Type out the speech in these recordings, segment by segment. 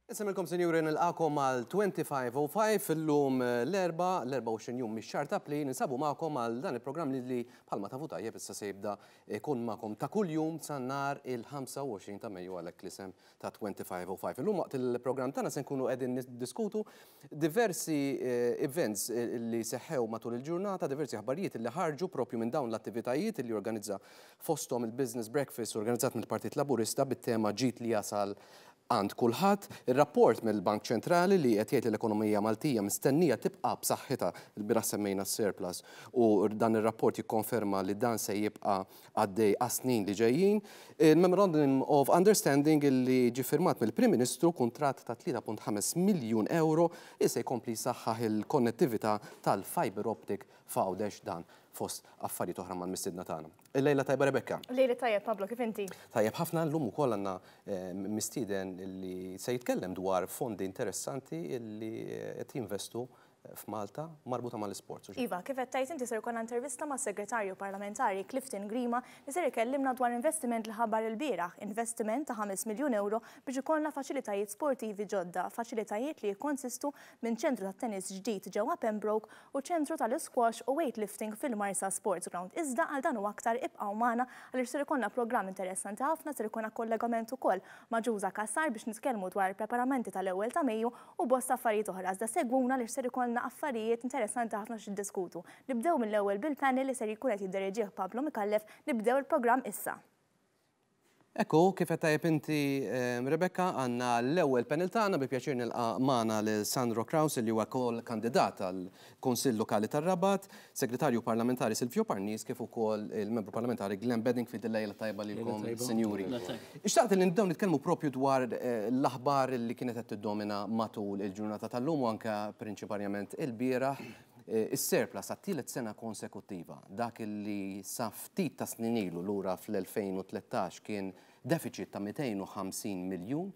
Insellmilkom sinjuri nilqakom għal 2505 illum l-Erbgħa, l-24 jum mix-xahar ta' April, ninsabu magħkom għal dan il-programm li li bħalma tafu tajjeb issa se jibda jkun magħkom ta' kuljum sa nhar il-25 ta' Mejju għalhekk l-isem ta' 2505. Illum waqt il-programm tagħna se nkunu qegħdin niddiskutu diversi events li seħħew matul il-ġurnata, diversi aħbarijiet li ħarġu propju minn dawn l-attivitajiet li organizza fosthom il-Business Breakfast organizzat mill-Partit Laburista bit-tema ġid li jasal għand kulħadd. Ir-rapport mill-Bank Ċentrali li qed jgħid li l-ekonomija Maltija mistennija tibqa' b'saħħitha, ilbieraħ semmejna s-surplus u dan ir-rapport jikkonferma li dan se jibqa' għaddej għas-snin li ġejjin. Il-Memorandum of Understanding li ġie firmat mill-Prim Ministru, kuntratt ta' 3.5 miljun ewro li se jkompli jsaħħaħ il-konnettività tal-fibre optic f'Għawdex dan fost affarijiet oħra mal-mistiedna tagħna. Il-lejla tajba Rebecca. Lejla tajjeb Pablo, kif inti? Tajjeb ħafna llum ukoll għandna mistieden li se jitkellem dwar fondi interessanti li qed jinvestu f'Malta marbuta mal-isports. Iva, kif qed tgħid inti ser ikollna intervista mas-Segretarju Parlamentari Clifton Grima li ser ikellimna dwar investiment li ħabbar ilbieraħ, investiment ta' 5 miljun ewro biex ikollna faċilitajiet sportivi ġodda, faċilitajiet li jikkonsistu minn ċentru tat-tennis ġdid ġewwa Pembroke u ċentru tal-isquash u weightlifting fil-Marsa Sports Ground. Iżda għal dan u aktar ibqgħu magħna għaliex ser ikollna programm interessanti ħafna, ser ikollna kollegament ukoll ma' Ġuża Cassar biex nitkellmu dwar il-preparamenti tal-ewwel ta' Mejju u bosta affarijiet oħra. Iżda segwuna għaliex ser ikollna affarijiet interessanti ħafna x'niddiskutu. Nibdew mill-ewwel bil-panel li ser jkun qed jidderiġih Pablo Micallef. Nibdew il-programm issa. Ekku, kif qed tajjeb inti Rebecca, għandna l-ewwel panel tagħna bi pjaċir nilqa' magħna lil Sandro Craus li huwa wkoll kandidat għal Kunsill Lokali tar-Rabat, Segretarju Parlamentari Silvio Parnis kif ukoll il-Membru Parlamentari Glenn Bedingfield il-lejla tajba lilkom sinjuri. Xtaqt li nibdew nitkellmu propju dwar l-aħbar li kienet qed tiddomina matul il-ġurnata tal-lum u anke prinċiparjament ilbieraħ is-surplus għat-tielet sena konsekuttiva, dak li sa ftit ta' snin ilu lura fl-2013 kien deficit ta' 250 miljun,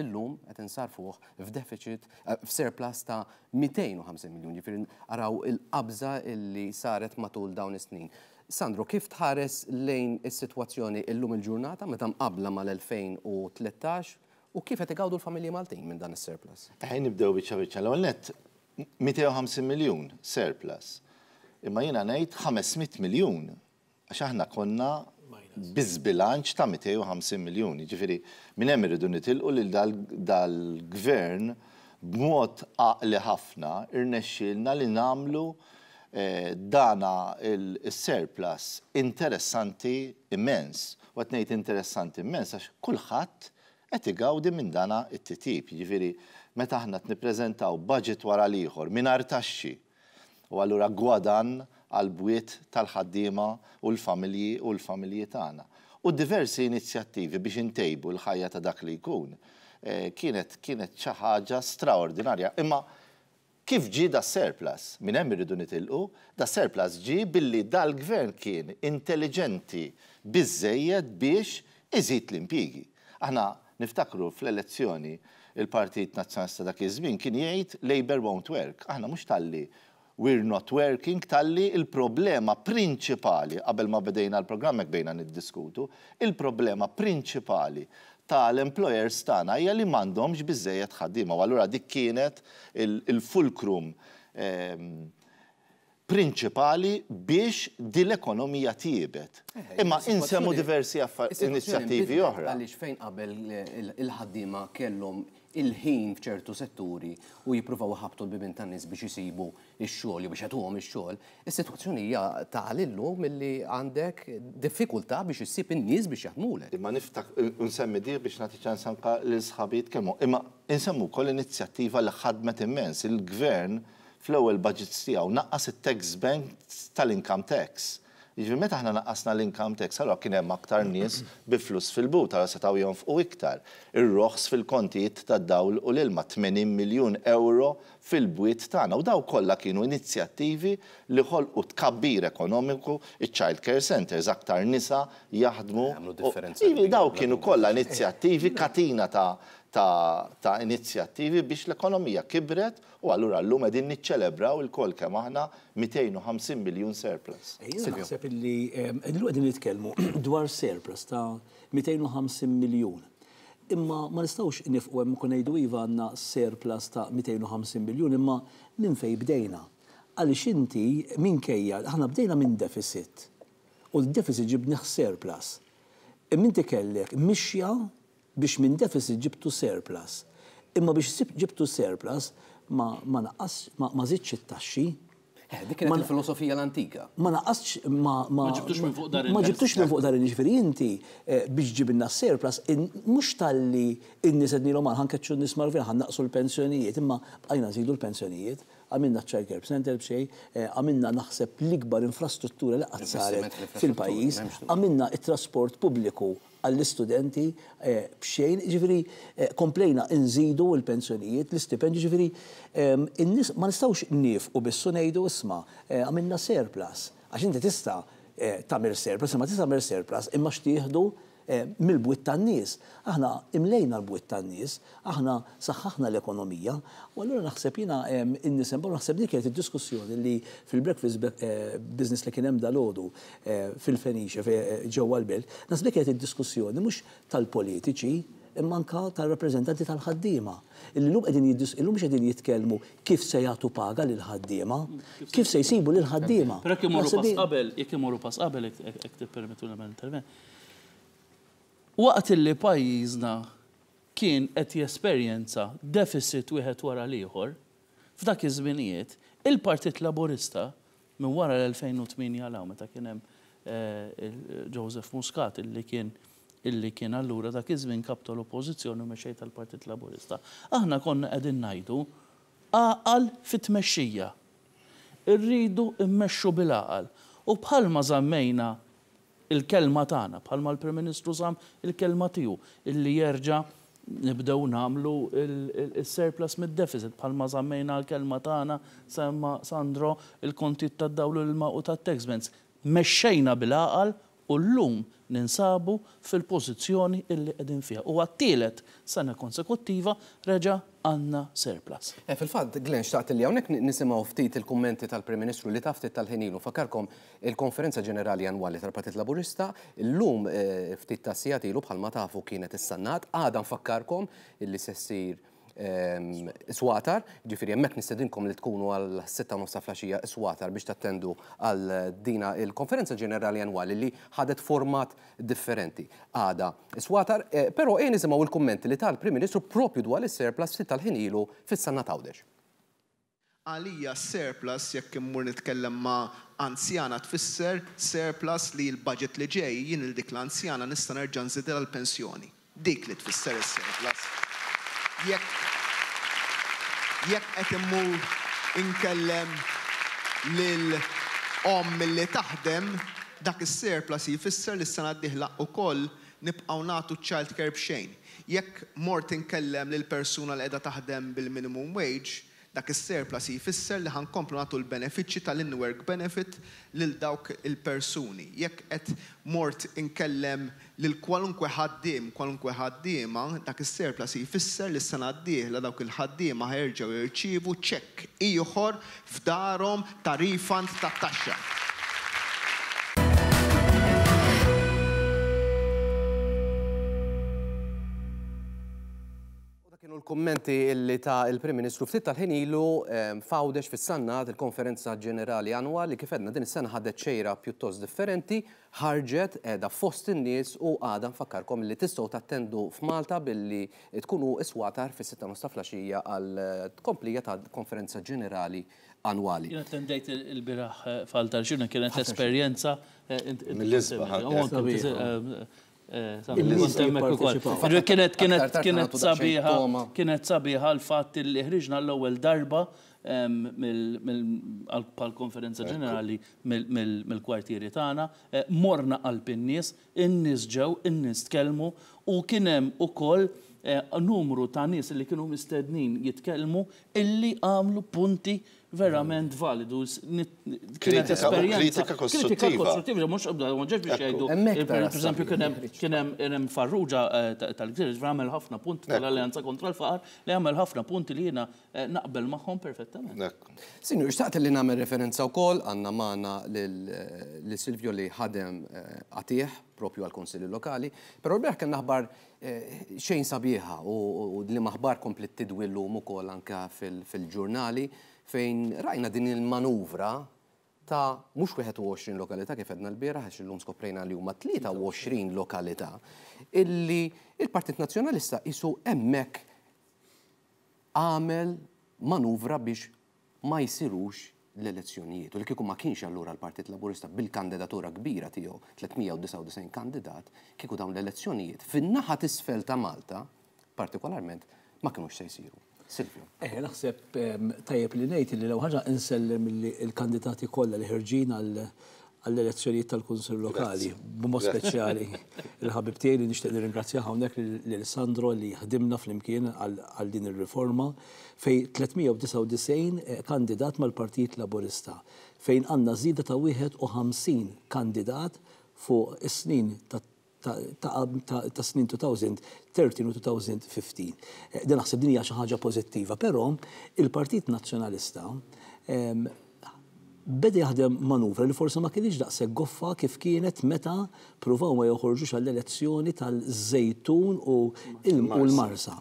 illum qed insarfuh f'deficit f'surplus ta' 250 miljun. Jiġifieri araw il-qabża li saret matul dawn is-snin. Sandro, kif tħares lejn is-sitwazzjoni illum il-ġurnata meta mqabbla mal-2013 u kif qed igawdu l-familji Maltin minn dan is-surplus? Ejja nibdew biċċa biċċa. L-ewwel nett 250 miljun surplus. Imma jiena ngħid 500 miljun għax aħna konna bi żbilanċ ta' 250 miljun. Jiġifieri minn hemm irridu nitilqu lil dal-gvern b'mod għaqli ħafna rnexxielna li nagħmlu dana is-surplus interessanti immens. U qed ngħid interessanti immens għax kulħadd qed igawdi minn dana t-titjib. Jiġifieri meta aħna qed nippreżentaw budget wara l-ieħor mingħajr taxxi u allura gwadann għall-bwiet tal-ħaddiema u l-familji u l-familji tagħna. U diversi inizjattivi biex intejbu l-ħajja ta' dak li jkun kienet kienet xi ħaġa straordinarja. Imma Kif ġie das-surplus? Minn hemm irridu nitilqu. Das-surplus ġie billi dal-Gvern kien intelliġenti biżżejjed biex iżid l-impjiegi. Aħna niftakru fl-elezzjoni il-Partit Nazzjonalista dak iż-żmien kien jgħid Labour won't work. Aħna mhux talli we're not working talli l-problema prinċipali, qabel ma bedejna l-programm hekk bdejna niddiskutu, il-problema prinċipali ta' l-employers tagħna hija li m'għandhomx biżżejjed ħaddiema u allura dik kienet il-fulcrum prinċipali biex din l-ekonomija tjiebet. Imma insemmu diversi inizjattivi oħra. Għaliex fejn qabel il-ħaddiema kellhom il-ħin f'ċertu setturi u jippruvaw iħabbtu l-bibien tan-nies biex isibu x-xogħol jew biex jagħtuhom ix-xogħol, is-sitwazzjoni hija tali llum illi għandek diffikultà biex issib in-nies biex jaħdmulek. Imma niftak u nsemmi di biex nagħti ċans anke lil sħabi jitkellmu. Imma insemmu wkoll inizjattiva li ħadmet immens. Il-Gvern fl-ewwel budgets tiegħu naqqas it-tax banks tal-income tax. Jiġifieri meta aħna naqqasna l-income tax allura kien hemm aktar nies bi flus fil-but, allura setgħu jonfqu iktar. Ir-roħs fil-kontijiet tad-dawl u l-ilma, 80 miljun ewro fil-bwiet tagħna. U dawk kollha kienu inizjattivi li ħolqu tkabbir ekonomiku, iċ-child care centres, aktar nisa jaħdmu. Għamlu differenza kbira. Dawk kienu kollha inizjattivi, katina ta' ta' inizjattivi biex l-ekonomija kibret u allura llum qegħdin niċċelebraw ilkoll kemm aħna 250 miljun surplus. Jiena naħseb illi illum qegħdin nitkellmu dwar surplus ta' 250 miljun. Imma ma nistgħux nifqu hemm u ngħidu iva għandna surplus ta' 250 miljun imma minn fejn bdejna. Għaliex inti minkejja aħna bdejna minn deficit u d-deficit ġibnih surplus. Imma inti kellek mixja biex minn deficit ġibtu surplus. Imma biex ġibtu surplus ma ma naqqas ma ma żidtx it-taxxi. Eh, dik kienet il-filosofija l-antika. Ma naqqasx ma ma Ma ġibtux minn fuq dar Ma in-nies. ġibtux minn fuq dar in-nies, ġifieri inti eh, biex ġibilna surplus mhux talli in-nies għednilhom ħa nkeċċu n-nies mal-gvern ħa nnaqqsu l-pensjonijiet, imma bqajna nżidu l-pensjonijiet, għamilna ċ-child care center b'xejn, eh, għamilna naħseb l-ikbar infrastruttura li qatt saret Investiment fl-infrastruttura, fil-pajjiż, m'hemmx dubju. għamilna it-trasport pubbliku għall-istudenti eh, b'xejn, ġifieri eh, komplejna nżidu l-pensjonijiet, l-istipendji, ġifieri in-nies ma nistgħux nifqu biss u ngħidu isma' eh, għamilna surplus. Għax inti tista' tagħmel surplus, imma tista' tagħmel surplus imma x'tieħdu mill-bwiet tan-nies. Aħna imlejna l-bwiet tan-nies, aħna saħħaħna l-ekonomija, u allura naħseb jiena in-nies hemm naħseb dik kienet id-diskussjoni li fil-breakfast business li kien hemm dalgħodu fil-Fenice ġewwa l-Belt, naħseb dik kienet id-diskussjoni mhux tal-politiċi imma anka tal-rappreżentanti tal-ħaddiema. Illum qegħdin illum mhux qegħdin jitkellmu kif se jagħtu paga lil ħaddiema, kif se jsibu lil ħaddiema. Però jekk imorru pass qabel, jekk imorru pass qabel, jekk tippermettu nagħmel intervent. Waqt li pajjiżna kien qed jesperjenza deficit wieħed wara l-ieħor, f'dak iż-żminijiet, il-Partit Laburista minn wara l-2008 law meta kien hemm Joseph Muscat illi kien illi kien allura dak iż-żmien kap tal-Oppożizzjoni u mexxej tal-Partit Laburista. Aħna konna qegħdin ngħidu għaqal fit-tmexxija. Irridu mmexxu bil-għaqal. U bħalma żammejna il-kelma tagħna, bħalma l-Prim Ministru żamm il-kelma tiegħu illi jerġa' nibdew nagħmlu il-surplus mid-deficit, bħalma żammejna l-kelma tagħna semma Sandro il-kontijiet tad-dawl u l-ilma u tat-tax bands. Mexxejna bil-għaqal u llum ninsabu fil-pożizzjoni illi qegħdin fiha. U għat-tielet sena konsekuttiva reġa' għandna surplus. Eh, fil-fatt, Glenn, xtaqt li hawnhekk nisimgħu ftit il-kummenti tal-Prim Ministru li ta ftit tal-ħin ilu. Fakkarkom il-Konferenza Ġenerali Annwali tal-Partit Laburista llum eh, ftit ta' sigħat ilu bħalma tafu kienet is-Sannat. Għada nfakkarkom illi se ssir Swatar, ġifieri hemmhekk nistedinkom li tkunu għal 6:30 ta' filgħaxija Swatar biex tattendu għal dina il-Konferenza Ġenerali Annwali li ħadet format differenti. Għada Swatar, eh, però ejja nisimgħu il-kummenti li tal-Prim Ministru propju dwar is-surplus ftit tal-ħin ilu fis-Sannat Għawdex. Għalija surplus jekk immur nitkellem ma' anzjana tfisser surplus li l-budget li ġej jien lil dik l-anzjana nista' nerġa' nżidilha l-pensjoni. Dik li tfisser is-surplus. Jekk jekk qed immur inkellem lil omm li taħdem, dak is-surplus jfisser li s-sena d-dieħla wkoll nibqgħu nagħtu child care b'xejn. Jekk mort inkellem lil persuna li qiegħda taħdem bil-minimum wage, dak is-surplus jfisser li ħa nkomplu nagħtu l-benefiċċji tal-in-work benefit lil dawk il-persuni. Jekk qed mort inkellem lil kwalunkwe ħaddiem, kwalunkwe ħaddiema, dak is-surplus jfisser li s-sena d-dieħla dawk il-ħaddiema ħa jerġgħu jirċievu ċekk ieħor f'darhom ta' refund tat-taxxa. U dak kienu l-kummenti illi ta il-Prim Ministru ftit tal-ħin ilu f'Għawdex fis-Sannat il-Konferenza Ġenerali Annwali kif għedna din is-sena ħadet xejra pjuttost differenti, ħarġet qiegħda fost in-nies u għada nfakkarkom li tistgħu tattendu f'Malta billi tkunu iswatar fis-6:30 ta' filgħaxija għal tkomplija ta' Konferenza Ġenerali Annwali. Jien attendejt il-bieraħ f'Altar Xirna kienet esperjenza Mill-isbaħ. Kienet kienet kienet sabiħa kienet sabiħa l-fatt li ħriġna l-ewwel darba bħal-konferenza ġenerali mill-kwartieri tagħna, morna qalb in-nies, in-nies ġew, in-nies tkellmu u kien hemm ukoll numru ta' nies li kienu mistednin jitkellmu illi għamlu punti verament validu. Kienet esperjenza. Kritika kostruttiva. Kritika kostruttiva, mhux ma ġewx biex jgħidu. Pereżempju kien hemm kien hemm Farrugia tal-Gżira, ġifieri għamel ħafna punti tal-Alleanza kontra l-Faqar li għamel ħafna punti li jiena naqbel magħhom perfettament. Sinjur, xtaqt li nagħmel referenza wkoll għandna magħna lil Silvio li ħadem qatigħ propju għall-Kunsilli Lokali, però lbieraħ kellna aħbar xejn sabiħa u liema aħbar kompliet tidwi llum ukoll anke fil-ġurnali fejn rajna din il-manuvra ta' mhux 21 lokalità kif għedna lbieraħ għax illum skoprejna li huma 23 lokalità illi il-Partit Nazzjonalista qisu hemmhekk għamel manuvra biex ma jsirux l-elezzjonijiet u li kieku ma kienx allura l-Partit Laburista bil-kandidatura kbira tiegħu, 399 kandidat, kieku dawn l-elezzjonijiet fin-naħa t'isfel ta' Malta, partikolarment, ma kinux se jsiru. Silvio. Eh, naħseb tajjeb li ngħid li l-ewwel ħaġa insellem il-kandidati kollha li ħerġin għall-elezzjonijiet tal-Kunsill Lokali, b'mod speċjali il-ħabib tiegħi li nixtieq nirringrazzjah hawnhekk lil Sandro li ħdimna flimkien għal din ir-riforma fejn 399 kandidat mal-Partit Laburista fejn għandna żieda ta' 51 kandidat fuq is-snin ta' ta' snin 2013 u 2015. Din naħseb din hija xi ħaġa pożittiva, però il-Partit Nazzjonalista beda jaħdem manuvra li forsi ma kinitx daqshekk goffa kif kienet meta pruvaw ma joħorġux għall-elezzjoni tal-Żejtun u l-Marsa.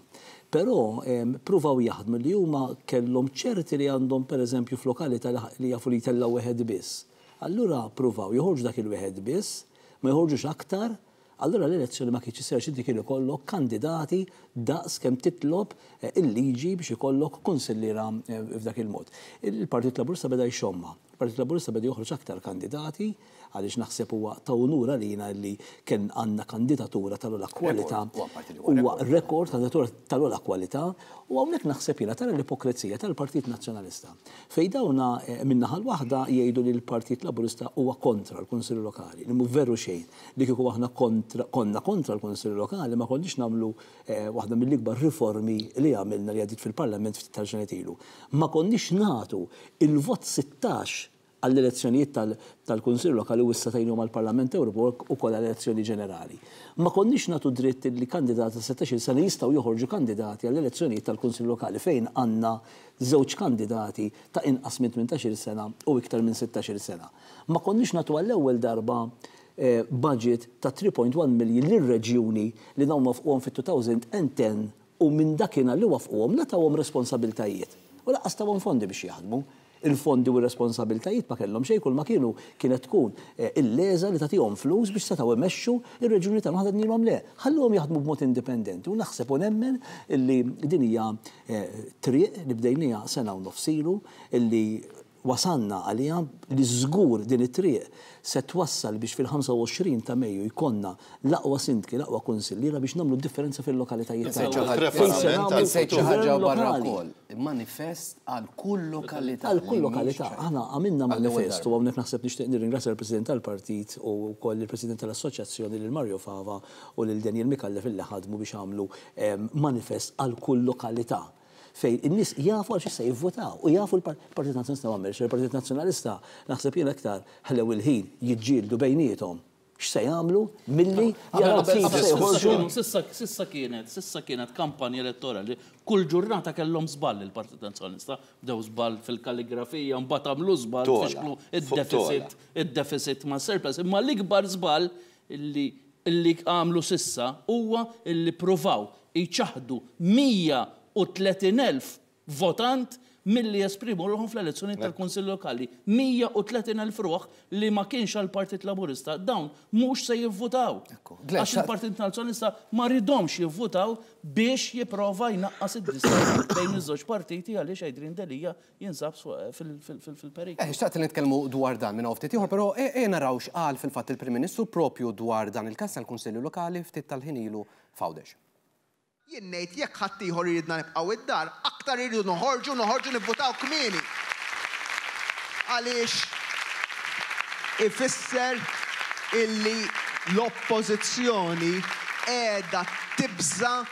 Però pruvaw jaħdmu li huma kellhom ċerti li għandhom pereżempju f'lokalità li jafu li jtellgħu wieħed biss. Allura pruvaw joħorġu dak il-wieħed biss, ma joħorġux aktar, allura l-elezzjoni ma kienx issir għax inti kien ikollok kandidati daqs kemm titlob il-liġi biex ikollok kunsilliera f'dak il-mod. Il-Partit Laburista beda jxommha. Il-Partit Laburista beda joħroġ aktar kandidati għaliex naħseb huwa ta' unur għalina li kien għandna kandidatura tal-ogħla kwalità. Huwa rekord kandidatura tal-ogħla kwalità u hawnhekk naħseb jiena tara l-ipokrezija tal-Partit Nazzjonalista. Fejn dawna min-naħa l-waħda jgħidu li l-Partit Laburista huwa kontra l-Kunsilli Lokali, li mhu veru xejn, li kieku aħna kontra, konna kontra l-Kunsilli Lokali ma konniex nagħmlu waħda mill-ikbar riformi li għamilna li għaddiet fil-Parlament ftit tal-ġranet ilu. Ma konniex nagħtu il-vot 16 għall-elezzjonijiet tal-Kunsill Lokali u issa tajniehom għall-Parlament Ewropew ukoll għall-elezzjoni ġenerali. Ma konniex nagħtu dritt li kandidati ta' 16-il sena jistgħu joħorġu kandidati għall-elezzjonijiet tal-Kunsill Lokali fejn għandna żewġ kandidati ta' inqas minn 18-il sena u iktar minn 16-il sena. Ma konniex nagħtu għall-ewwel darba budget ta' 3.1 million lir-reġjuni li dawn waffquhom fit-2010 u minn dakinhar li waffquhom la tawhom responsabiltajiet u lanqas tawhom fondi biex jaħdmu. Il-fondi u r-responsabiltajiet ma kellhom xejn, kulma kienu kienet tkun il-leża li tagħtihom flus biex setgħu imexxu r-reġjuni tagħna. Aħna għednielhom le, ħalluhom jaħdmu b'mod indipendenti u naħseb u nemmen illi din hija triq li bdejniha sena u nofs ilu illi wasalna għaliha li żgur din it-triq se twassal biex fil-25 ta' Mejju jkollna l-aqwa sindki, l-aqwa kunsilliera biex nagħmlu d-differenza fil-lokalitajiet tagħna. Fejn se nagħmlu Insejt xi ħaġa gvern barra lokali. wkoll, manifest għal kull lokalità. Għal kull lokalità. Aħna għamilna manifest u hawnhekk naħseb nixtieq nirringrazzja lill-President tal-Partit u wkoll lill-President tal-Assoċjazzjoni lil Mario Fava u lil Daniel Micallef illi ħadmu biex għamlu manifest għal kull lokalità. fejn in-nies jafu għal xiex se jivvutaw u jafu l-Partit Nazzjonalista ma għamilx. Il-Partit Nazzjonalista naħseb jien aktar ħlew il-ħin jiġġieldu bejniethom x'se jagħmlu milli jaraw kif se joħorġu. S'issa s'issa kienet s'issa kienet kampanja elettorali kull ġurnata kellhom żball il-Partit Nazzjonalista. Bdew żball fil-kalligrafija, mbagħad għamlu żball fixklu id-deficit id-deficit mas-surplus. Imma l-ikbar żball li li għamlu s'issa huwa li ppruvaw jċaħħdu 130,000 votant milli jesprimu ruħhom fl-elezzjonijiet tal-Kunsill Lokali. 130,000 ruħ li ma kienx għall-Partit Laburista, dawn mhux se jivvutaw. Għax il-Partit Nazzjonalista ma riedhomx jivvutaw biex jipprova jnaqqas id-distakk bejn iż-żewġ partiti għaliex Adrian Delia jinsab fil-periklu. Eh, xtaqt li nitkellmu dwar dan minn hawn ftit ieħor, però ejja naraw x'qal fil-fatt il-Prim Ministru propju dwar dan il-każ tal-Kunsilli Lokali ftit tal-ħin ilu f'Għawdex. Jien ngħid jekk ħaddieħor iridna nibqgħu id-dar, aktar irridu noħorġu, noħorġu nivvutaw kmieni. Għaliex ifisser illi l-Oppożizzjoni qiegħda tibża'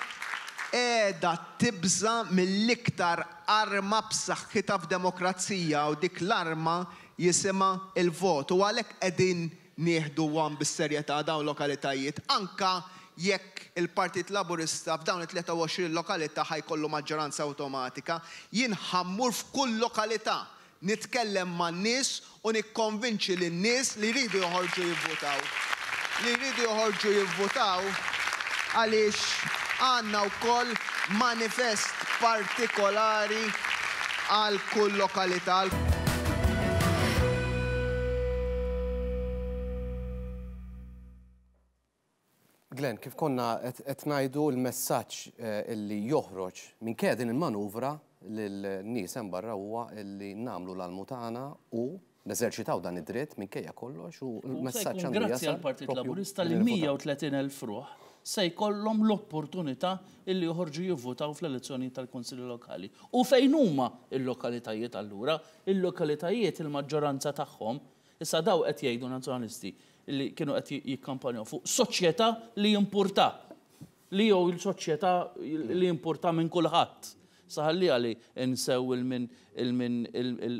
qiegħda tibża' mill-iktar. arma b'saħħitha f'demokrazija u dik l-arma jisimha l-vot u għalhekk qegħdin nieħduhom bis-serjetà dawn lokalitajiet anke jekk il-Partit Laburista f'dawn it-23 lokalità ħa jkollu maġġoranza awtomatika. Jien ħa mmur f'kull lokalità nitkellem man-nies u nikkonvinċi lin-nies li jridu joħorġu jivvutaw. Li jridu joħorġu jivvutaw għaliex għandna wkoll manifest partikolari għal kull lokalità. Glenn, kif konna qed ngħidu l-messaġġ illi joħroġ minkejja din il-manuvra lin-nies hemm barra huwa illi nagħmlu l-almu tagħna u neżerċitaw dan id-dritt minkejja kollox u l-messaġġ għandu jasal. Grazzi għall-Partit Laburista li 130,000 ruħ se jkollhom l-opportunità illi joħorġu jivvutaw fl-elezzjonijiet tal-Kunsilli Lokali. U fejn huma l-lokalitajiet allura? Il-lokalitajiet il-maġġoranza tagħhom, issa dawn qed jgħidu Nazzjonalisti li kienu qed jikkampanjaw fuq soċjetà li jimpurta, li jew il-soċjetà li jimpurta minn kulħadd. Sa ħalliha li nsew il-min il-min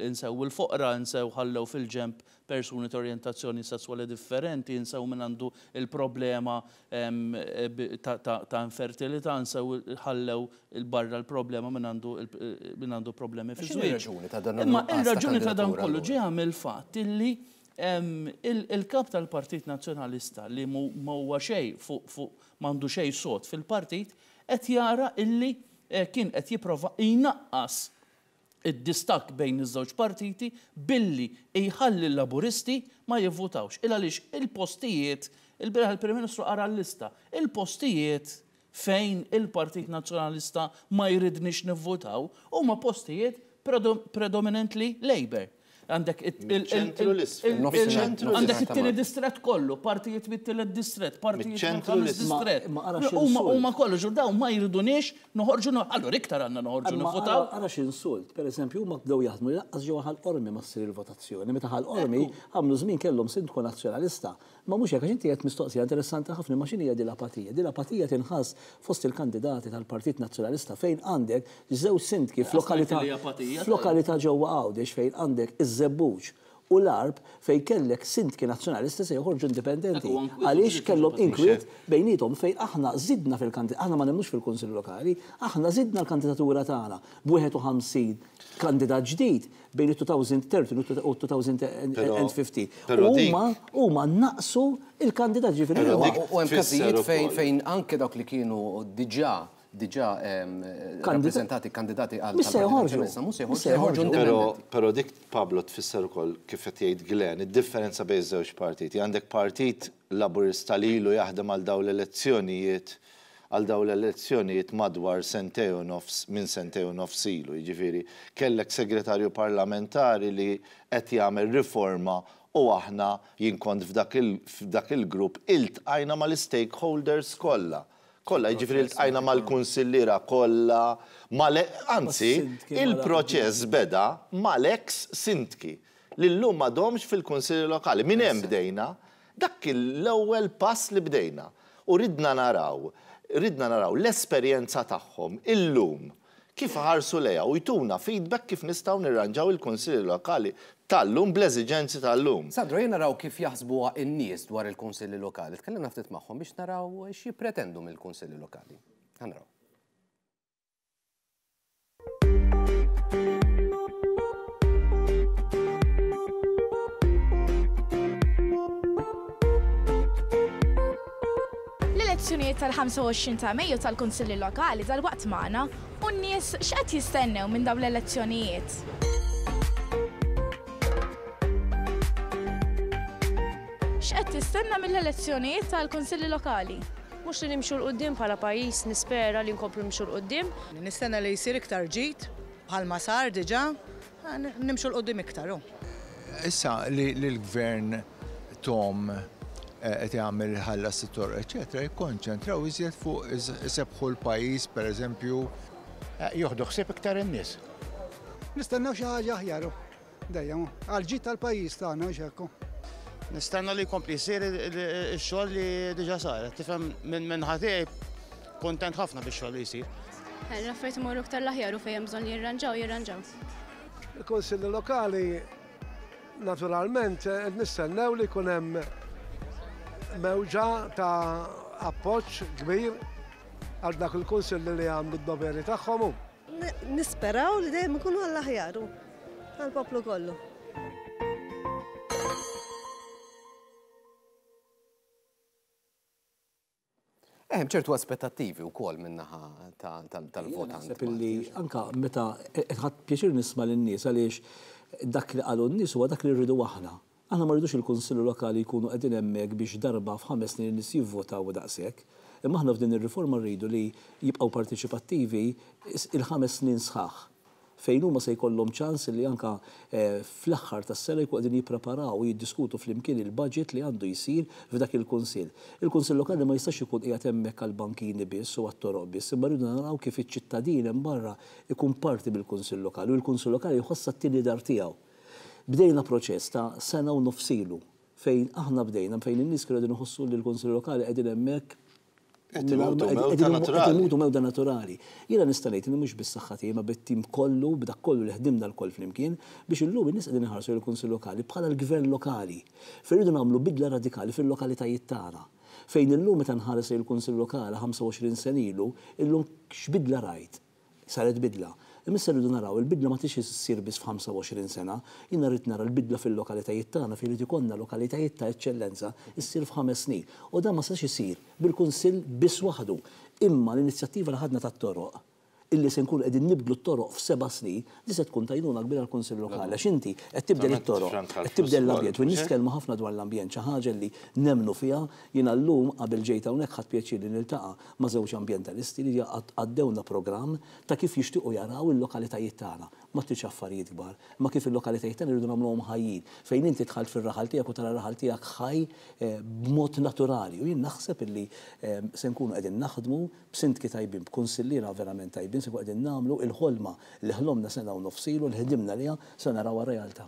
insew il-foqra, insew ħallew fil-ġenb persuni ta' orjentazzjoni sesswali differenti, insew min għandu il-problema ta' infertilità, insew ħallew 'il barra l-problema min għandu min għandu problemi fiż-żwieġ. Imma ir-raġuni ta' dan kollu ġejja mill-fatt illi il-kap tal-Partit Nazzjonalista li ma huwa xejn fuq fuq m'għandu xejn sod fil-partit qed jara illi kien qed jipprova jnaqqas id-distakk bejn iż-żewġ partiti billi jħalli l-Laburisti ma jivvutawx. Il għaliex il-postijiet, ilbieraħ il-Prim Ministru qara l-lista, il-postijiet fejn il-Partit Nazzjonalista ma jridniex nivvutaw huma postijiet predominantly Labour. Għandek għandek it-tieni distrett kollu, partijiet mit-tielet distrett, partijiet mill-ħames distrett. Huma kollu ġur dawn ma jriduniex noħorġu allura iktar għandna noħorġu nivvutaw. Ara x'insult, pereżempju huma bdew jaħdmu li lanqas ġewwa Ħal Qormi ma ssir il-votazzjoni, meta Ħal Qormi għamlu żmien kellhom sindku Nazzjonalista. Ma mhux hekk, għax inti għedt mistoqsija interessanti ħafna, imma x'inhija din l-apatija? Din l-apatija tinħass fost il-kandidati tal-Partit Nazzjonalista fejn għandek żewġ sindki f'lokalità f'lokalità ġewwa Għawdex fejn għandek iż-Żebbuġ u l-Għarb fejn kellek sindki Nazzjonalisti se joħorġu indipendenti għaliex kellhom inkwiet bejniethom fejn aħna żidna fil-kandi aħna ma nemmnux fil-Kunsill Lokali, aħna żidna l-kandidatura tagħna b'51 kandidat ġdid bejn it-2013 u t-2015. U huma huma naqsu l-kandidat ġifieri huma. U hemm każijiet fejn fejn anke dawk li kienu diġà diġà rappreżentati kandidati għal Mhux se joħorġu. Mhux se joħorġu, se joħorġu indipendenti. Però dik Pablo tfisser ukoll kif qed jgħid Glenn, id-differenza bejn iż-żewġ partiti. Għandek partit Laburista li ilu jaħdem għal dawn l-elezzjonijiet għal dawn l-elezzjonijiet madwar sentejn u nofs minn sentejn u nofs ilu. Jiġifieri kellek segretarju parlamentari li qed jagħmel riforma u aħna, jien kont f'dak f'dak il-grupp, iltqajna mal-istakeholders kollha. Kollha, jiġifieri ltqajna mal-kunsilliera kollha, mal anzi, il-proċess beda mal-eks sindki li llum m'għadhomx fil-kunsilli lokali. Minn hemm bdejna. Dak kien l-ewwel pass li bdejna u ridna naraw, ridna naraw l-esperjenza tagħhom illum kif iħarsu lejha u jtuna feedback kif nistgħu nirranġaw il-Kunsilli Lokali tal-lum bl-eżiġenzi tal-lum. Sandro, ejja naraw kif jaħsbuha n-nies dwar il-Kunsilli Lokali. Tkellimna ftit magħhom biex naraw x'jippretendu mill-Kunsilli Lokali. Ħa naraw. L-elezzjonijiet tal-25 ta' Mejju tal-Kunsilli Lokali dalwaqt magħna u n-nies x'qed jistennew minn dawn l-elezzjonijiet? X'qed tistenna mill-elezzjonijiet tal-Kunsilli Lokali? Mhux li nimxu 'l quddiem bħala pajjiż, nispera li nkomplu nimxu 'l quddiem. Nistenna li jsir iktar ġid bħalma sar diġà, nimxu 'l quddiem iktar u. Issa li l-Gvern Tom qed jagħmel iħallas it-toroq eċċetera, jikkonċentraw iżjed fuq isebbħu l-pajjiż pereżempju. Jieħdu ħsieb iktar in-nies. Nistennew xi ħaġa aħjar. Dejjem, għall-ġid tal-pajjiż tagħna, hux hekk? Nistenna li jkompli jsir ix-xogħol li diġà sar. Tifhem minn naħa tiegħi kuntent ħafna bix-xogħol li jsir. L-affarijiet imorru iktar l-aħjar u fejn hemm bżonn li jirranġaw, jirranġaw. Il-Kunsilli Lokali naturalment qed nistennew li jkun hemm mewġa ta' appoġġ kbir għal dak il-kunsilli li għamlu d-doveri tagħhom. Nisperaw li dejjem ikunu għall-aħjar u għall-poplu kollu. Hemm ċertu aspettattivi wkoll min-naħa tal-votant. Naħseb illi anka meta ħadd pjaċir nisma' lin-nies għaliex dak li qalu n-nies huwa dak li rridu aħna. Aħna ma rridux il-Kunsilli Lokali jkunu qegħdin hemmhekk biex darba f'ħames snin in-nies jivvotaw u daqshekk. Imma aħna f'din ir-riforma rridu li jibqgħu parteċipattivi il-ħames snin sħaħ. fejn huma se jkollhom ċans li anke fl-aħħar tas-sena jkunu qegħdin jippreparaw u jiddiskutu flimkien il-budget li għandu jsir f'dak il-Kunsill. Il-Kunsill Lokali ma jistax ikun qiegħed hemmhekk għall-bankini biss u għat-toroq biss, imma rridu naraw kif iċ-ċittadin hemm barra jkun parti mill-Kunsill Lokali u l-Kunsill Lokali jħossha t-tieni dar tiegħu. Bdejna proċess ta' sena u nofs ilu fejn aħna bdejna fejn in-nies kienu qegħdin iħossu li l-Kunsill Lokali qegħdin hemmhekk Qed imutu mewta naturali. Qed imutu mewta naturali. Jiena nista' ngħid li mhux bis-saħħa tiegħi imma bit-tim kollu, b'dak kollu li ħdimna lkoll flimkien biex illum in-nies qegħdin iħarsu lejn il-Kunsill Lokali bħala l-gvern lokali. Fejn irridu nagħmlu bidla radikali fil-lokalitajiet tagħna. Fejn illum meta nħares lejn il-Kunsill Lokali 25 sena ilu, illum x'bidla rajt? Saret bidla. Imma issa rridu naraw, il-bidla ma tridx issir biss f'25 sena. Jiena rrid nara l-bidla fil-lokalitajiet tagħna fejn irid ikollna lokalitajiet ta' eċċellenza issir f'ħames snin. U dan ma setax isir bil-Kunsill biss waħdu. Imma l-inizjattiva li ħadna tat-toroq, illi se nkunu qegħdin nibdlu t-toroq f'seba' snin, di se tkun t'għajnuna kbira għall-Kunsill Lokali għax inti qed tibdel it-toroq, qed tibdel l-ambjent u n-nies tkellmu ħafna dwar l-ambjent, xi ħaġa li nemmnu fiha. Jiena llum qabel ġejt hawnhekk ħadt pjaċir li niltaqa' ma' żewġ ambjentalisti li għaddewna programm ta' kif jixtiequ jaraw il-lokalitajiet tagħna. Ma tridx affarijiet kbar, imma kif il-lokalitajiet tagħna rridu nagħmluhom ħajjin. Fejn inti dħalt fir-raħal tiegħek u tara r-raħal tiegħek ħaj b'mod naturali. U jien naħseb illi se nkunu qegħdin naħdmu b'sindki tajbin, b'kunsilliera verament tajbin, se nkunu qegħdin nagħmlu l-ħolma li ħlomna sena u nofs ilu, li ħdimna għaliha, se narawha realtà.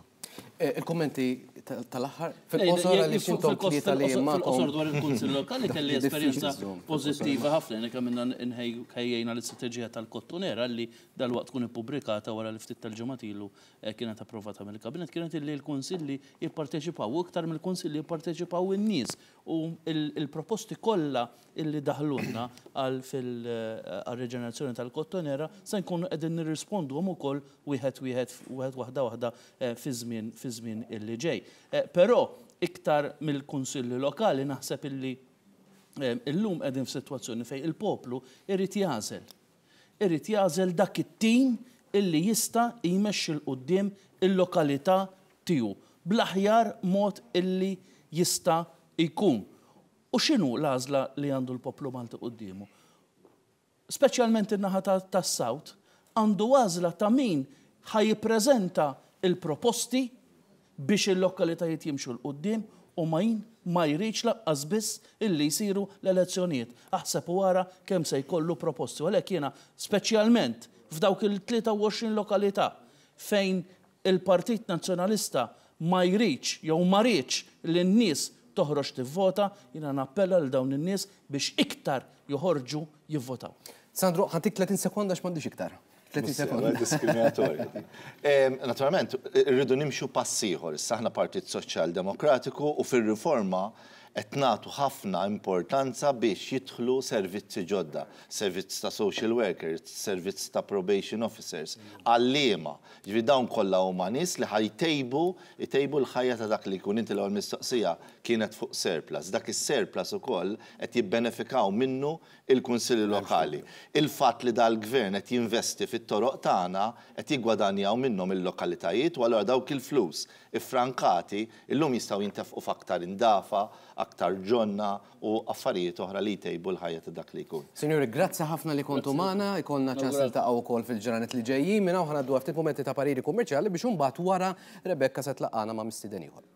Il-kummenti tal-aħħar fil-qosor għaliex intom tlieta li magħkom. Fil-qosor dwar il-Kunsill Lokali kelli esperjenza pożittiva ħafna li kemm ħejjejna l-istrateġija tal-Kottonera li dalwaqt tkun ippubblikata wara li ftit tal-ġimgħat ilu kienet approvata mill-Kabinett kienet illi l-Kunsilli jipparteċipaw u iktar mill-Kunsilli jipparteċipaw in-nies u l-proposti kollha illi daħlulna għal fil-reġenerazzjoni tal-Kottonera se nkunu qegħdin nirrisponduhom ukoll wieħed wieħed, wieħed waħda waħda fiż-żmien fiż-żmien illi ġej. Però iktar mill-kunsilli lokali naħseb illi illum qegħdin f'sitwazzjoni fejn il-poplu irid jagħżel. Irid jagħżel dak it-tim illi jista' jmexxi 'l quddiem il-lokalità tiegħu bl-aħjar mod illi jista' jkun. U x'inhu l-għażla li għandu l-poplu Malti quddiemu? Speċjalment in-naħa tas-South, għandu għażla ta' min ħa jippreżenta l-proposti biex il-lokalitajiet jimxu 'l quddiem u min ma jridx lanqas biss illi jsiru l-elezzjonijiet. Aħseb u ara kemm se jkollu proposti. U għalhekk jiena speċjalment f'dawk il-23 lokalità fejn il-Partit Nazzjonalista ma jridx jew ma riedx li n-nies toħroġ tivvota, jiena nappella lil dawn in-nies biex iktar joħorġu jivvotaw. Sandro, ħa ntik 30 sekonda għax m'għandix iktar. 30 sekonda. Diskriminatorja din. Naturalment, irridu nimxu pass ieħor. Issa aħna Partit Soċjal Demokratiku u fir-riforma qed nagħtu ħafna importanza biex jidħlu servizzi ġodda, servizz ta' social workers, servizz ta' probation officers, għalliema. Jiġifieri dawn kollha huma nies li ħa jtejbu jtejbu l-ħajja ta' dak li jkun. Inti l-ewwel mistoqsija kienet fuq surplus. Dak is-surplus ukoll qed jibbenefikaw minnu l-kunsilli lokali. Il-fatt li dal-Gvern qed jinvesti fit-toroq tagħna qed jiggwadanjaw minnhom il-lokalitajiet u allura dawk il-flus iffrankati illum jistgħu jintefqu f'aktar indafa, aktar ġonna, u affarijiet oħra li jtejbu l-ħajja ta' dak li jkun. Sinjuri, grazzi ħafna li kontu magħna, ikollna ċans niltaqgħu wkoll fil-ġranet li ġejjin. Minn hawn ħa ngħaddu għal ftit mumenti ta' pariri kummerċjali biex imbagħad wara Rebecca se tlaqqagħna ma' mistieden ieħor.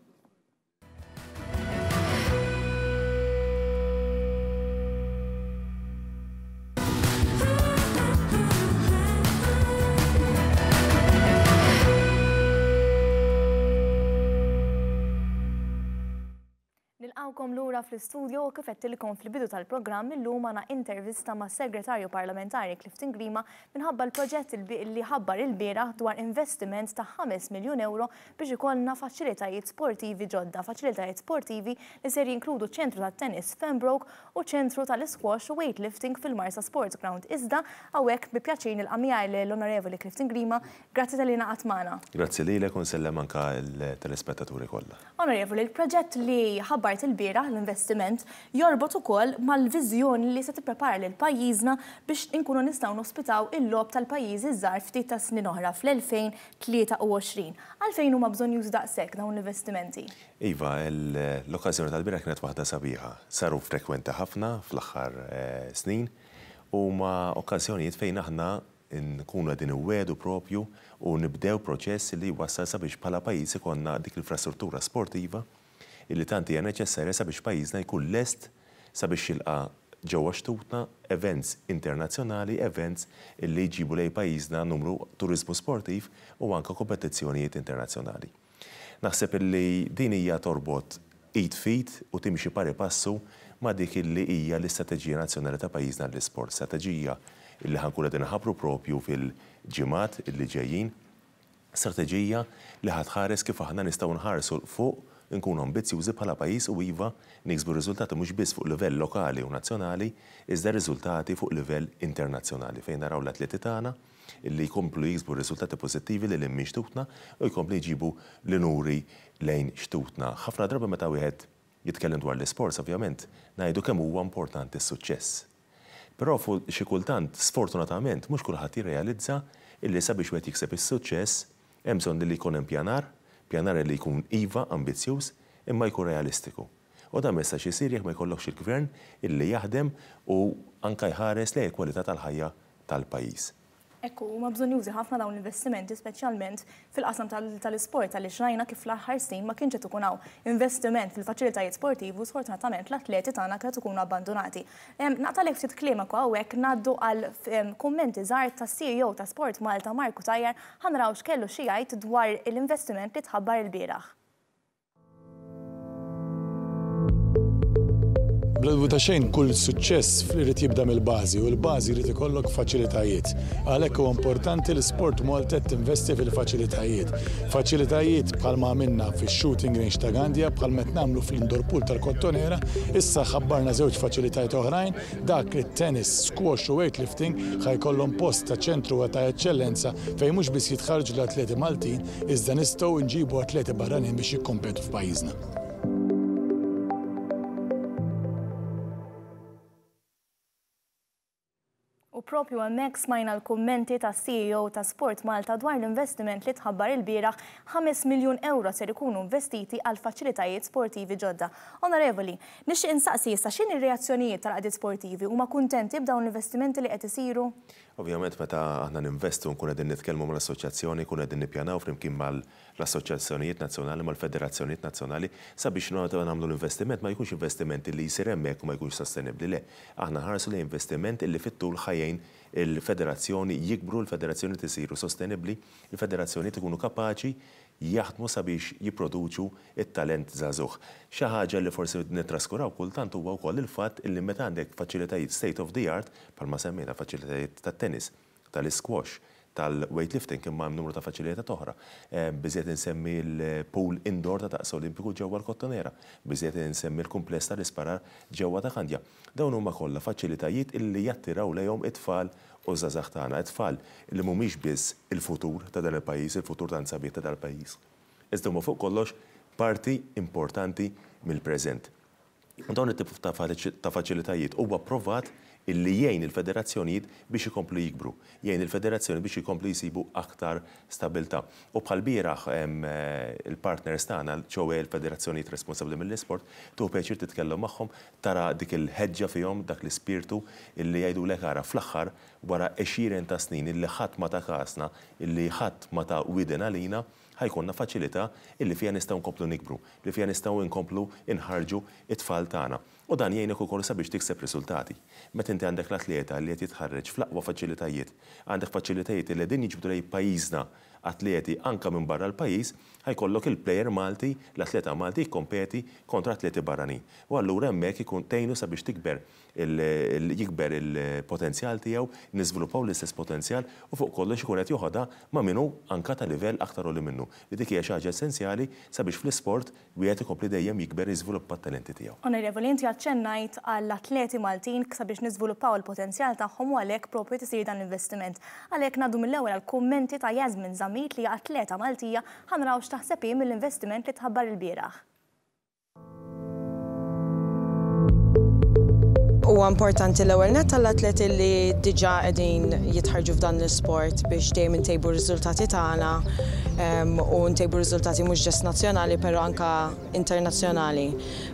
Nilqgħukom lura fl-istudio u kif għedtilkom fil-bidu tal-programm illum għandna intervista mas-Segretarju Parlamentari Clifton Grima minħabba l-proġett li ħabbar ilbieraħ dwar investiment ta' 5 miljun ewro biex ikollna faċilitajiet sportivi ġodda, faċilitajiet sportivi li ser jinkludu ċentru tat-tennis f'Pembroke u ċentru tal-isquash u weightlifting fil-Marsa Sports Ground. Iżda hawnhekk bi pjaċir nilqa' miegħi lill-Onorevoli Clifton Grima. Grazzi talli ingħaqadt magħna. Grazzi lilek u nsellem anke l-telespettaturi kollha. Onorevoli, il-proġett li ħabbart ilbieraħ, l-investiment, jorbot ukoll mal-viżjoni li se tipprepara lil pajjiżna biex inkunu nistgħu nospitaw il-Logħob tal-Pajjiżi ż-Żgħar ftit tas-snin oħra fl-2023. Għalfejn huma bżonnjużi daqshekk dawn l-investimenti? Iva, l-okkażjoni tal-bieraħ kienet waħda sabiħa. Saru frekwenti ħafna fl-aħħar snin u huma okkażjonijiet fejn aħna nkunu qegħdin inwiegħdu propju u nibdew proċess li jwassal sabiex bħala pajjiż ikollna dik l-infrastruttura sportiva illi tant hija neċessarja sabiex pajjiżna jkun lest sabiex jilqa' ġewwa xtutna events internazzjonali, events illi jġibu lejn pajjiżna numru turiżmu sportiv u anke kompetizzjonijiet internazzjonali. Naħseb illi din hija torbot id f'id u timxi pari passu ma' dik illi hija l-istrateġija nazzjonali ta' pajjiżna għall-isport, strateġija illi ħa nkunu qegħdin inħabbru propju fil-ġimgħat illi ġejjin, strateġija li ħa tħares kif aħna nistgħu nħarsu 'l fuq, inkunu ambizzjużi bħala pajjiż u iva niksbu riżultati mhux biss fuq livell lokali u nazzjonali iżda riżultati fuq livell internazzjonali fejn naraw l-atleti tagħna li jkomplu jiksbu riżultati pożittivi lil hinn minn xtutna u jkomplu jġibu l-unuri lejn xtutna. Ħafna drabi meta wieħed jitkellem dwar l-isports ovvjament ngħidu kemm huwa importanti s-suċċess. Però xi kultant sfortunatament mhux kulħadd jirrealizza illi sabiex wieħed jikseb is-suċċess hemm bżonn li jkun hemm pjanar, pjanar li jkun iva ambizzjuż imma jkun realistiku. U dan ma jistax isir jekk ma jkollokx il-Gvern illi jaħdem u anke jħares lejn il-kwalità tal-ħajja tal-pajjiż. Hekk hu, huma bżonnjużi ħafna dawn l-investimenti speċjalment fil-qasam tal-isport għaliex rajna kif fl-aħħar snin ma kienx qed ikun hawn investiment fil-faċilitajiet sportivi u sfortunatament l-atleti tagħna kienu qed ikunu abbandunati. Naqtagħlek ftit kliemek u hawnhekk ngħaddu għal kummenti żgħar tas-CEO ta' Sport Malta Mark Cutajar ħa naraw x'kellu xi jgħid dwar l-investiment li tħabbar ilbieraħ. Bla dubju ta' xejn kull suċċess irid jibda mill-bażi u l-bażi jrid ikollok faċilitajiet. Għalhekk huwa importanti li Sport Malta qed tinvesti fil-faċilitajiet. Faċilitajiet bħalma għamilna fix-shooting range ta' Gandja, bħalma qed nagħmlu fl-indoor pool tal-Kottonera, issa ħabbarna żewġ faċilitajiet oħrajn, dak li t-tennis, squash u weightlifting ħa jkollhom post ta' ċentru ta' eċċellenza fejn mhux biss jitħarrġu l-atleti Maltin iżda nistgħu nġibu atleti barranin biex jikkompetu f'pajjiżna. U propju hemmhekk smajna l-kummenti tas-CEO ta' Sport Malta dwar l-investiment li tħabbar ilbieraħ 5 miljun ewro ser ikunu investiti għal faċilitajiet sportivi ġodda. Onorevoli, nixtieq insaqsi issa x'inhi r-reazzjonijiet tal-għaqdiet sportivi? Huma kuntenti b'dawn l-investimenti li qed isiru? Ovvjament meta aħna ninvestu nkunu qegħdin nitkellmu mal-assoċjazzjoni, nkunu qegħdin nippjanaw flimkien mal-assoċjazzjonijiet nazzjonali, mal-federazzjonijiet nazzjonali sabiex meta nagħmlu l-investiment ma jkunx investiment illi jsir hemmhekk u ma jkunx sostenibbli, le. Aħna nħarsu lejn investiment illi fit-tul ħa jgħin il-federazzjoni jikbru, l-federazzjonijiet isiru sostenibbli, il-federazzjonijiet ikunu kapaċi jaħdmu sabiex jipproduċu t-talent żagħżugħ. Xi ħaġa li forsi nittraskuraw kultant huwa wkoll il-fatt illi meta għandek faċilitajiet state of the art, bħalma semmejna faċilitajiet tat-tennis, tal-isquash, tal-weightlifting imma hemm numru ta' faċilitajiet oħra. Biżżejjed insemmi l-pool indoor ta' daqs Olimpiku ġewwa l-Kottonera, biżżejjed insemmi l-kumpless tal-isparar ġewwa ta' Kandja. Dawn huma kollha faċilitajiet illi jattiraw lejhom it-tfal u ż-żgħażagħ tagħna, it-tfal li mhumiex biss il-futur ta' dan il-pajjiż, il-futur tant sabiħ ta' dal-pajjiż, iżda huma fuq kollox parti importanti mill-preżent. U dawn it-tip ta' faċilitajiet huwa pprovat illi jgħin il-federazzjonijiet biex ikomplu jikbru, jgħin il-federazzjonijiet biex ikomplu jsibu aktar stabilità. U bħall-bieraħ il-partners tagħna, ċoe l-federazzjonijiet responsabbli mill-isport, tieħu pjaċir titkellem magħhom, tara dik il-ħeġġa fihom, dak l-ispirtu illi jgħidulek ara fl-aħħar wara għexieren ta' snin illi ħadd ma ta kasna, illi ħadd ma ta widen għalina, ħa jkollna faċilità illi fiha nistgħu nkomplu nikbru, li fiha nistgħu nkomplu nħarrġu t-tfal tagħna. U dan jgħinek ukoll sabiex tikseb riżultati. Meta inti għandek l-atleta li qed jitħarreġ fl-aqwa faċilitajiet, għandek faċilitajiet li qegħdin jiġbdu lejn pajjiżna atleti anke minn barra l-pajjiż, ħa jkollok il-plejer Malti, l-atleta Malti jikkompeti kontra atleti barranin. U allura hemmhekk ikun tgħinu sabiex tikber jikber il-potenzjal tiegħu, niżviluppaw l-istess potenzjal u fuq kollox ikun qed joħodha ma' min hu anke ta' livell aktar għoli minnu, li dik hija xi ħaġa essenzjali sabiex fl-isport wieħed ikompli dejjem jikber jiżviluppa t-talenti tiegħu. Onorevoli, inti aċċennajt għall-atleti Maltin sabiex niżviluppaw il-potenzjal tagħhom u għalhekk proprju qed isir dan l-investiment. Għalhekk ngħaddu mill-ewwel għall-kummenti ta' Yasmin Zammit li hija atleta Maltija, ħa naraw x'taħseb hi mill-investiment li tħabbar ilbieraħ. Huwa importanti l-ewwel nett għall-atleti li diġà qegħdin jitħarrġu f'dan l-isport biex dejjem intejbu r-riżultati tagħna u ntejbu r-riżultati mhux ġest nazzjonali però anke internazzjonali.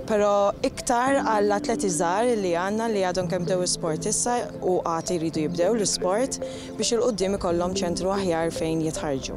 Però iktar għall-atleti żgħar li għandna li għadhom kemm bdew isport issa u għad iridu jibdew l-isport biex 'il quddiem ikollhom ċentru aħjar fejn jitħarrġu.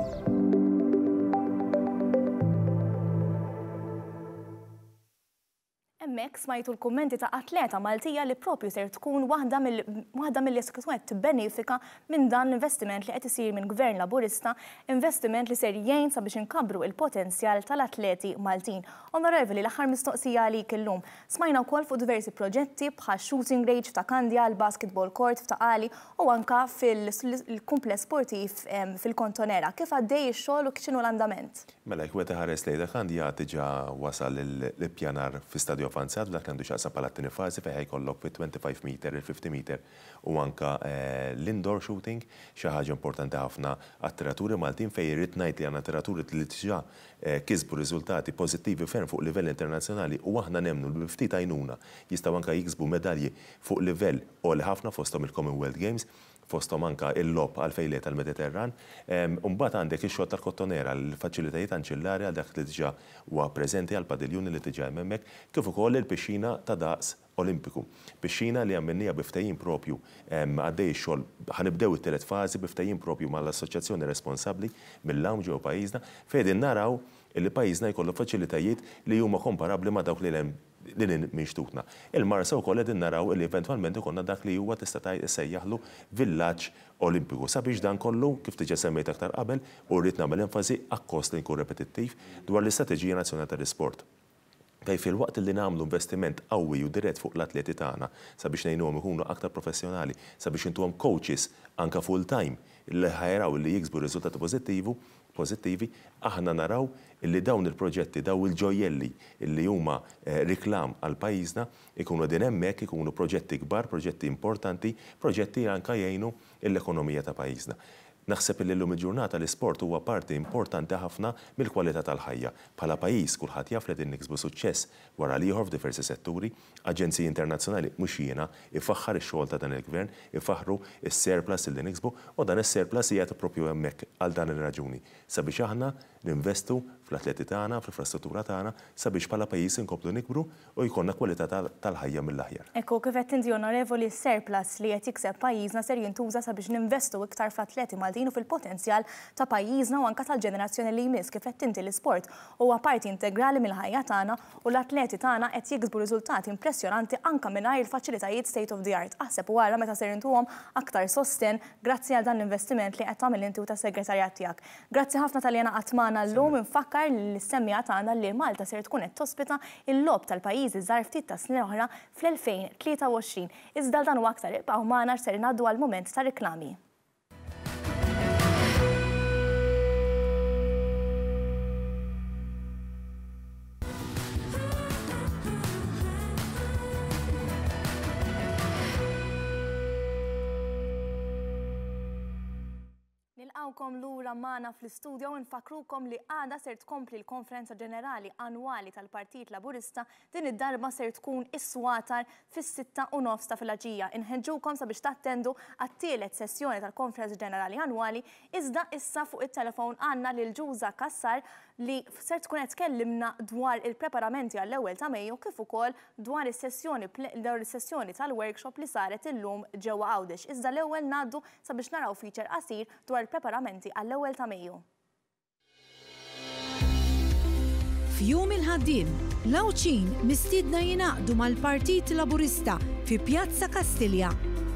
Hemmhekk smajtu l-kummenti ta' atleta Maltija li propju ser tkun waħda mill waħda milli se tkun qed tibbenefika minn dan l-investiment li qed isir minn Gvern Laburista, investiment li ser jgħin sabiex inkabbru il-potenzjal tal-atleti Maltin. Onorevoli, l-aħħar mistoqsija għalik illum. Smajna wkoll fuq diversi proġetti bħax-shooting range f'Ta' Kandja, l-basketball court f'Ta' Qali u anka fil-kumpless sportiv fil-Kontonera. Kif għaddej ix-xogħol u x'inhu l-andament? Mela, jekk wieħed iħares lejn dak għandi għad diġà wasal l-ippjanar fi stadju avvanzat f'dak li għandu x'jaqsam bħala t-tieni fażi fejn ħa jkollok fit-25 meter, il-50 meter u anke l-indoor shooting, xi ħaġa importanti ħafna għat-tiraturi Maltin fejn irrid ngħid li għandna tiraturi li diġà kisbu riżultati pożittivi ferm fuq livell internazzjonali u aħna nemmnu li bi ftit għajnuna jistgħu anke jiksbu medalji fuq livell għoli ħafna fosthom il-Commonwealth Games. fosthom anke il-logħob għalfejn le tal-Mediterran. Imbagħad għandek ix-xogħol tal-Kottonera, l-faċilitajiet anċillari għal dak li diġà huwa preżenti għall-padiljuni li diġà hemm hemmhekk, kif ukoll il-pixxina ta' daqs Olimpiku. Pixxina li għamilniha bi ftehim propju, għaddej ix-xogħol, ħa nibdew it-tielet fażi bi ftehim propju mal-assoċjazzjoni responsabbli mill-għawm ġewwa pajjiżna, fejn qegħdin naraw li pajjiżna jkollu faċilitajiet li huma komparabbli ma' dawk li hemm lil hinn minn xtutna. Il-Marsa wkoll qegħdin naraw li eventwalment ikollna dak li huwa tista' tgħid issejjaħlu villaġġ Olimpiku. Sabiex dan kollu, kif diġà semmejt aktar qabel, u rrid nagħmel enfasi akkost li nkun repetittiv, dwar l-Istrateġija Nazzjonali tal-Isport. Fejn filwaqt li nagħmlu investiment qawwi u dirett fuq l-atleti tagħna sabiex ngħinuhom ikunu aktar professjonali, sabiex intuhom coaches anke full time li ħa jaraw li jiksbu riżultati pożittivu, pożittivi, aħna naraw illi dawn il-proġetti, dawn il-ġojjelli illi huma riklam għal pajjiżna, ikunu qegħdin hemmhekk, ikunu proġetti kbar, proġetti importanti, proġetti li anke jgħinu l-ekonomija ta' pajjiżna. Naħseb illi llum il-ġurnata l-isport huwa parti importanti ħafna mill-kwalità tal-ħajja. Bħala pajjiż kulħadd jaf li qegħdin niksbu suċċess wara l-ieħor f'diversi setturi, Aġenziji internazzjonali, mhux jiena, ifaħħar ix-xogħol ta' dan il-Gvern, ifaħħru s-surplus illi niksbu, u dan is-surplus qiegħed proprju hemmhekk għal dan ir-raġuni, sabiex aħna ninvestu fl-atleti tagħna, fl-infrastruttura tagħna, sabiex bħala pajjiż inkomplu nikbru u jkollna kwalità tal-ħajja mill-aħjar. Hekk hu, kif għedt inti Onorevoli, s-surplus li qed jikseb pajjiżna ser jintuża sabiex ninvestu iktar fl-atleti Maltin u fil-potenzjal ta' pajjiżna u anke tal-ġenerazzjoni li jmiss. Kif għedt inti l-isport huwa parti integrali mill-ħajja tagħna u l-atleti tagħna qed jiksbu riżultati impressjonanti anke mingħajr il-faċilitajiet state of the art. Aħseb u ara meta ser intuhom aktar sostenn grazzi għal dan l-investiment li qed tagħmel inti u tas-segretarjat tiegħek. Grazzi ħafna talli ingħaqadt magħna llum. Infakkar lill-semmiegħa tagħna li Malta ser tkun qed tospita l-Logħob tal-Pajjiżi ż-Żgħar ftit tas-snin oħra fl-2023. Iżda għal dan u aktar ibqgħu magħna għax ser ngħaddu għall-mument tar-riklami. Nilqgħukom lura magħna fl-istudio u nfakkrukom li għada ser tkompli l-Konferenza Ġenerali Annwali tal-Partit Laburista din id-darba ser tkun is-Swatar fis-6:30 ta' filgħaxija. Inħeġġukom sabiex tattendu għat-tielet sessjoni tal-Konferenza Ġenerali Annwali iżda issa fuq it-telefon għandna lil Ġuża Cassar li ser tkun qed tkellimna dwar il-preparamenti għall-ewwel ta' Mejju kif ukoll dwar is-sessjoni dwar is-sessjoni tal-workshop li saret illum ġewwa Għawdex. Iżda l-ewwel ngħaddu sabiex naraw feature qasir dwar il-preparamenti għall-ewwel ta' Mejju. F'Jum il-Ħaddiem. L-Għawdxin mistiedna jingħaqdu mal-Partit Laburista fi Pjazza Kastilja.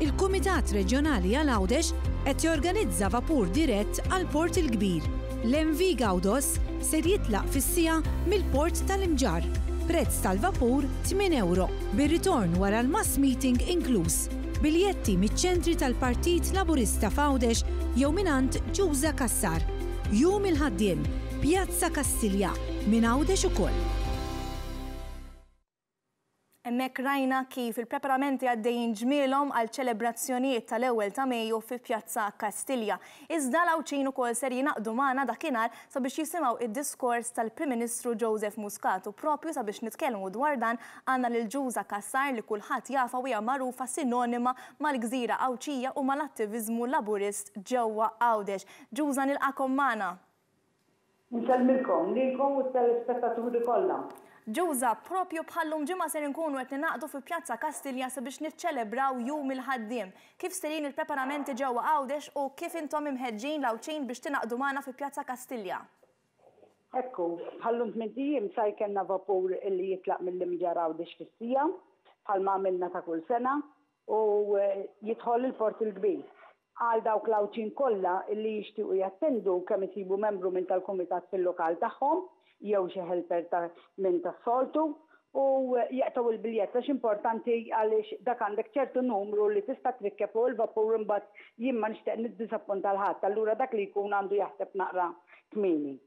Il-Kumitat Reġjonali għal Għawdex qed jorganizza vapur dirett għall-Port il-Kbir. L-MV Gawdos ser jitlaq fis-siegħa mill-Port tal-Imġarr. Prezz tal-vapur tmien ewro, bir-ritorn wara l-mass meeting inkluż. Biljetti miċ-ċentri tal-Partit Laburista f'Għawdex jew mingħand Ġuża Cassar. Jum il-Ħaddiem, Pjazza Kastilja, minn Għawdex ukoll. Hemmhekk rajna kif il-preparamenti għaddejjin ġmielhom għal ċelebrazzjonijiet tal-ewwel ta' Mejju fi Pjazza Kastilja. Iżda l-Għawdxin ukoll ser jingħaqdu magħna dakinhar sabiex jisimgħu id-diskors tal-Prim Ministru Joseph Muscat u propju sabiex nitkellmu dwar dan għandna lil Ġuża Cassar li kulħadd jafha u hija magħrufa sinonima mal-gżira Għawdxija u mal-attiviżmu Laburist ġewwa Għawdex. Ġuża nilqagħkom magħna. Insellmilkom, lilkom u t-telespettaturi kollha. Ġuża, propju bħal-lum ġimgħa ser inkunu qed ningħaqdu fi Pjazza Kastilja sabiex niċċelebraw Jum il-Ħaddiem. Kif sejrin il-preparamenti ġewwa Għawdex u kif intom imħeġġin l-Għawdxin biex tingħaqdu magħna fi Pjazza Kastilja? Hekk hu. Bħal-lum tmint ijiem sa jkellna vapur li jitlaq mill-Imġarr Għawdex fis-siegħa, bħalma għamilna ta' kull sena. u jidħol il-Port il-Kbir. Għal dawk l-Għawdxin kollha li jixtiequ jattendu kemm isibu membru minn tal-kumitat fil-lokal tagħhom jew xi helper ta' minn tas-soltu u jaqtgħu il-biljett għax importanti għaliex dak għandek ċertu numru li tista' trikkeb fuq il-vapur imbagħad jien ma nixtieq niddiżappunta 'l ħadd allura dak li jkun għandu jaħseb naqra kmieni.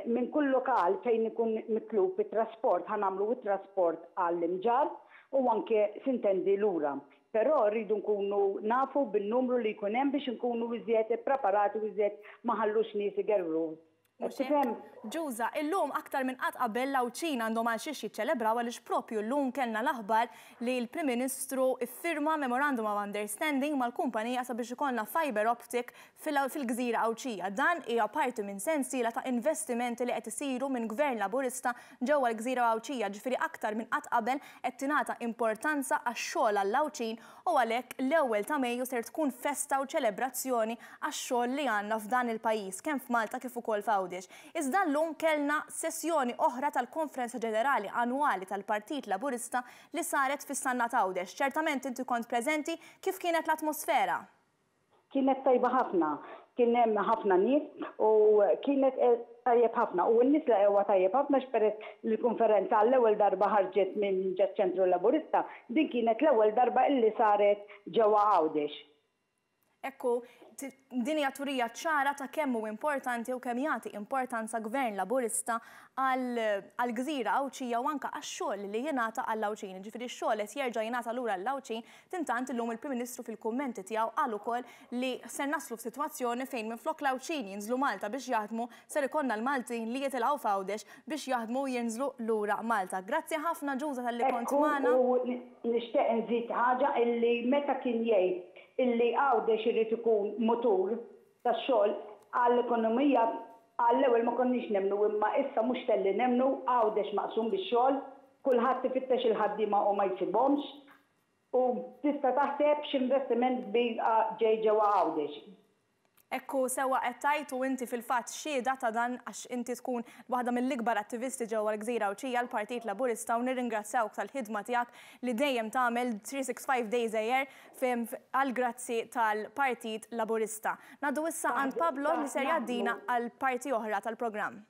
Minn kull lokal fejn ikun mitlub it-trasport ħa nagħmlu it-trasport għall-Imġarr u anke sintendi lura. Però rridu nkunu nafu bin-numru li jkun hemm biex inkunu iżjed ippreparati u iżjed ma nħallux nies igergru. Qed Mhux hekk? tifhem? Ġuża, illum aktar minn qatt qabel l-Għawdxin għandhom għal xiex jiċċelebraw għaliex propju llum kellna l-aħbar li l-Prim Ministru ffirma Memorandum of Understanding mal-kumpanija sabiex ikollna fibre optic fil-gżira Għawdxija. Dan hija parti minn sensiela ta' investimenti li qed isiru minn Gvern Laburista ġewwa l-gżira Għawdxija, ġifieri aktar minn qatt qabel qed tingħata importanza għax-xogħol għall-Għawdxin u għalhekk l-ewwel ta' Mejju ser tkun festa u ċelebrazzjoni għax-xogħol li għandna f'dan il-pajjiż kemm f'Malta kif ukoll f'Għawdex. Iżda llum kellna sessjoni oħra tal-Konferenza Ġenerali Annwali tal-Partit Laburista li saret fis-Sannat Għawdex. Ċertament inti kont preżenti, kif kienet l-atmosfera? Kienet tajba ħafna. Kien hemm ħafna nies u kienet tajjeb ħafna. U n-nies laqgħuha tajjeb ħafna għax peress li l-konferenza għall-ewwel darba ħarġet minn ġaċ-Ċentru Laburista, din kienet l-ewwel darba illi saret ġewwa Għawdex. Hekk hu, din hija turija ċara ta' kemm hu importanti u kemm jagħti importanza Gvern Laburista għall-gżira Għawdxija u anke għax-xogħol li jingħata għall-Għawdxin. Jiġifieri x-xogħol qed jerġa' jingħata lura lill-Għawdxin Intant illum il-Prim Ministru fil-kummenti tiegħu qal ukoll li ser naslu f'sitwazzjoni fejn minflok l-Għawdxin jinżlu Malta biex jaħdmu, ser ikollna l-Maltin li jitilgħu f'Għawdex biex jaħdmu u jinżlu lura Malta. Grazzi ħafna Ġuża talli kont Ekku magħna. u nixtieq inżid ħaġa illi meta kien jgħid illi Għawdex irid ikun mutur tax-xogħol għall-ekonomija għall-ewwel ma konniex nemmnu imma issa mhux talli nemmnu, Għawdex maqsum bix-xogħol, kulħadd ifittex il-ħaddiema u ma jsibhomx, U tista' taħseb x'investiment kbir ġej ġewwa Għawdex. Hekk hu, sewwa qed tgħid u inti fil-fatt xhieda ta' dan għax inti tkun waħda mill-ikbar attivisti ġewwa l-Gżira Għawdxija għall-Partit Laburista u nirringrazzjawk tal-ħidma tiegħek li dejjem tagħmel 365 days a year għall-grazzi tal-Partit Laburista. Ngħaddu issa għand Pablo li ser jgħaddina għal parti oħra tal-programm.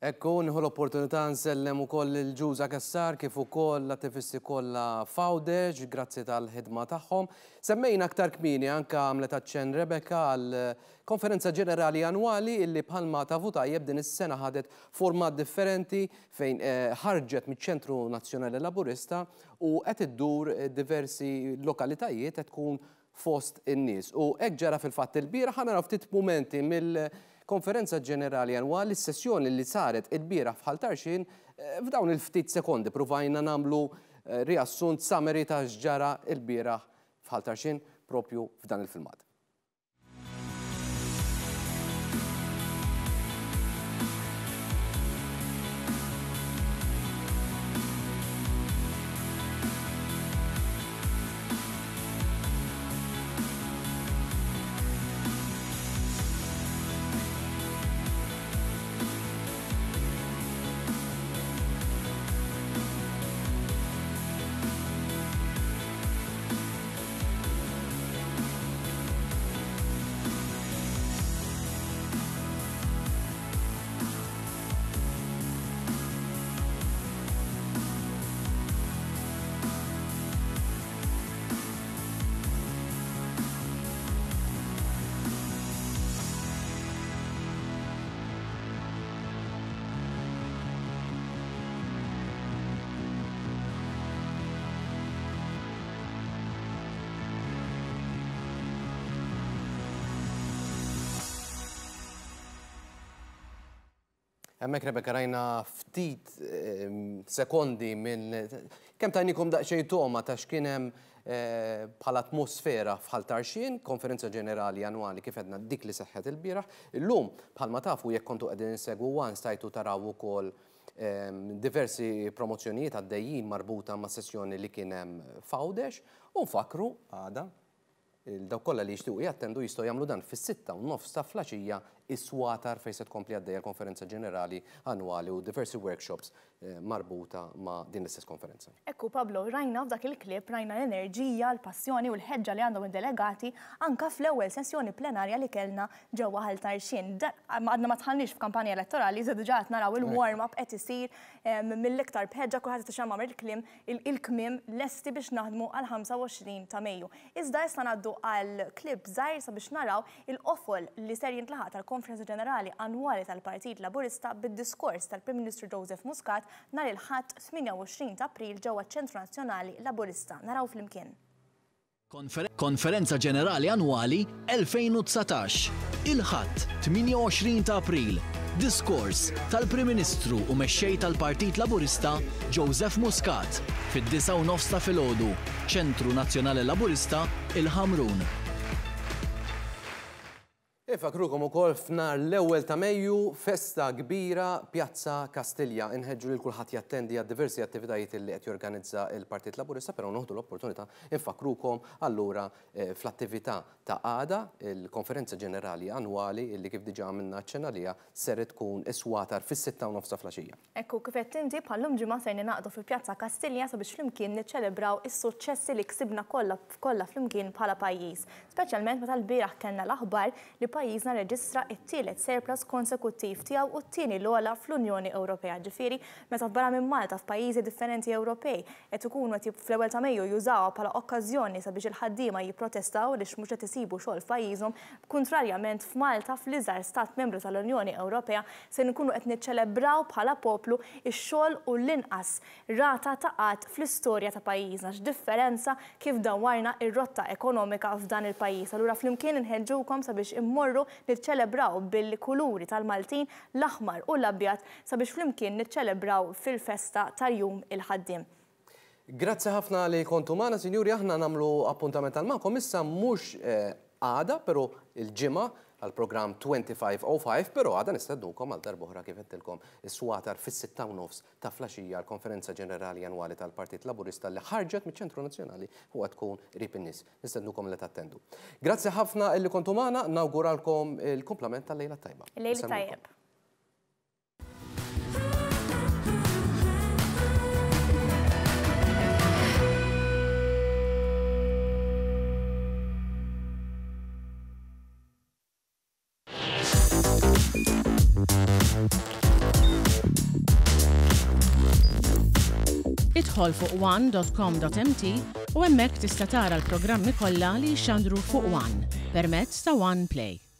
Hekk hu, nieħu l-opportunità nsellem ukoll lil Ġuża Cassar kif ukoll l-attivisti kollha f'Għawdex, grazzi tal-ħidma tagħhom. Semmejna aktar kmieni anke għamlet aċċenn Rebecca għal Konferenza Ġenerali Annwali illi bħalma tafu tajjeb din is-sena ħadet format differenti fejn ħarġet miċ-Ċentru Nazzjonali Laburista u qed iddur diversi lokalitajiet qed tkun fost in-nies. U hekk ġara fil-fatt ilbieraħ, ħa naraw ftit mumenti mill-Konferenza Ġenerali Annwali, s-sessjoni li saret ilbieraħ f'Ħal Tarxien, f'dawn il-ftit sekondi pruvajna nagħmlu riassunt summary ta' x'ġara ilbieraħ f'Ħal Tarxien propju f'dan il-filmat. Hemmhekk Rebecca rajna ftit sekondi minn kemm tajnikom daqsxejn togħma ta' x'kien hemm bħala atmosfera f'Ħal Tarxien, konferenza ġenerali annwali kif għedna dik li seħħet ilbieraħ. Illum bħalma tafu jekk kontu qegħdin insegwu one stajtu taraw ukoll diversi promozzjonijiet għaddejjin marbuta ma' sessjoni li kien hemm f'Għawdex u nfakkru għada Dawk kollha li jixtiequ jattendu jistgħu jagħmlu dan fis-6:30 ta' flaxija is-Swatar fejn se tkompli għaddejja l-Konferenza Ġenerali Annwali u diversi workshops marbuta ma' din l-istess konferenza. Ekku Pablo, rajna f'dak il-clip, rajna l-enerġija, l-passjoni u l-ħeġġa li għandhom id-delegati anka fl-ewwel sessjoni plenarja li kellna ġewwa Ħal Tarxien. Għadna ma dħalniex f'kampanja elettorali, iżda diġà qed naraw il-warm-up qed isir mill-iktar b'ħeġġa, kulħadd qed ixammar il-kliem, il-kmiem lesti biex naħdmu għall-25 ta' Mejju. Iżda issa ngħaddu għal clip żgħir sabiex naraw il-qofol li ser jintlaħaq tal-Konferenza Ġenerali Annwali tal-Partit Laburista bid-diskors tal-Prim Ministru Joseph Muscat nhar il-Ħadd 28 ta' April ġewwa ċ-Ċentru Nazzjonali Laburista. Naraw flimkien. Konferenza Ġenerali Annwali 2019, Il-Ħadd 28 ta' April, Diskors tal-Prim Ministru u Mexxej tal-Partit Laburista Joseph Muscat fid-disgħa u nofs ta' filgħodu, Ċentru Nazzjonali Laburista, il-Ħamrun. Infakkrukom ukoll f'nhar l-ewwel ta' Mejju, festa kbira Pjazza Kastilja. Inħeġġu lil kulħadd jattendi għad-diversi attivitajiet li qed jorganizza l-Partit Laburista, però noħdu l-opportunità nfakkrukom allura fl-attività ta' għada, il-Konferenza Ġenerali Annwali li kif diġà għamilna aċċenn għaliha ser tkun is-Swatar fis-sitta u nofs ta' flaxija. Hekk hu, kif għedt inti, bħal-lum ġimgħa ser ningħaqdu fi Pjazza Kastilja sabiex flimkien niċċelebraw is-suċċessi li ksibna kollha kollha flimkien bħala pajjiż. Speċjalment meta lbieraħ kellna l-aħbar li pajjiżna rreġistra t-tielet surplus konsekuttiv tiegħu u t-tieni l-ogħla fl-Unjoni Ewropea. Ġifieri, meta f'barra minn Malta f'pajjiżi differenti Ewropej qed ikunu qed fl-ewwel ta' Mejju jużawha bħala okkażjoni sabiex il-ħaddiema jipprotestaw għaliex mhux qed isibu xogħol f'pajjiżhom, kuntrarjament f'Malta fl-iżgħar stat membru tal-Unjoni Ewropea se nkunu qed niċċelebraw bħala poplu x-xogħol u l-inqas rata ta' qgħad fl-istorja ta' pajjiżna. X'differenza kif dawwarna r-rotta ekonomika f'dan il-pajjiż. Allura flimkien inħeġġukom sabiex immorru niċċelebraw bil-kuluri tal-Maltin, l-aħmar u l-abjad, sabiex flimkien niċċelebraw fil-festa ta' Jum il-Ħaddiem. Grazzi ħafna li kontu magħna, sinjuri, aħna nagħmlu appuntament għal magħkom issa mhux għada, però l-Ġimgħa għall-programm 2505, però għada nistednukom għal darb'oħra kif għedtilkom is-Swatar fis-sitta u nofs ta' flaxija għall-Konferenza Ġenerali Annwali tal-Partit Laburista li ħarġet miċ-Ċentru Nazzjonali u qed tkun qrib in-nies. Nistednukom li tattendu. Grazzi ħafna illi kontu magħna, nawguralkom il-kumplament tal-lejla t-tajba. Il-lejl it-tajjeb. Idħol fuq one.com.mt u hemmhekk tista' tara l-programmi kollha li jixxandru fuq One permezz ta' One Play.